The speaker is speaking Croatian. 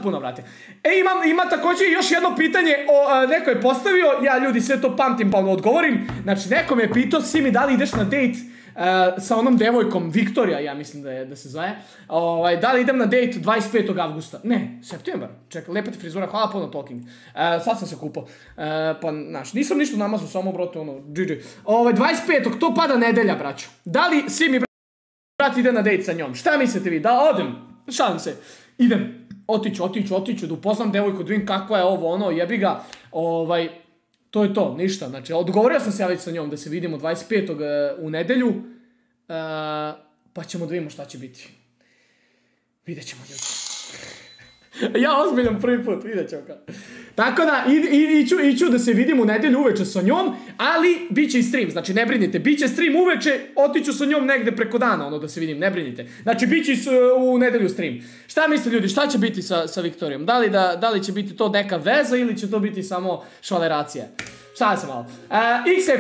puno, brate. Ima također još jedno pitanje, neko je postavio, ja ljudi sve to pamtim pa odgovorim. Znači, neko me je pitao, Simi, da li ideš na dejt sa onom devojkom, Viktorija, ja mislim da se zove. Da li idem na dejt 25. avgusta? Ne, septembar. Čekaj, lepa ti frizura, hvala puno talking. Sad sam se kupao. Pa, znaš, nisam ništa namazao, samo, brate, GG. 25. to pada nedelja, braću. Da li Simi, brat, ide na dejt sa njom? Šta mislite vi? Da odem? Šalim se. Idem. Otiću, da upoznam devojku, da vidim kakva je ovo, jebi ga. To je to, ništa. Znači, odgovorio sam se ja već sa njom da se vidimo 25. u nedelju. Pa ćemo da vidimo šta će biti. Vidjet ćemo, ljudi. Ja ozbiljam prvi put, vidjet ćemo kao. Tako da, iću da se vidim u nedelju uveče sa njom, ali bit će i stream, znači ne brinite, bit će stream uveče, otiću sa njom negde preko dana, da se vidim, ne brinite. Znači, bit će u nedelju stream. Šta mislite, ljudi, šta će biti sa Viktorijom? Da li će biti to neka veza ili će to biti samo švaleracija? Šta sam malo? X je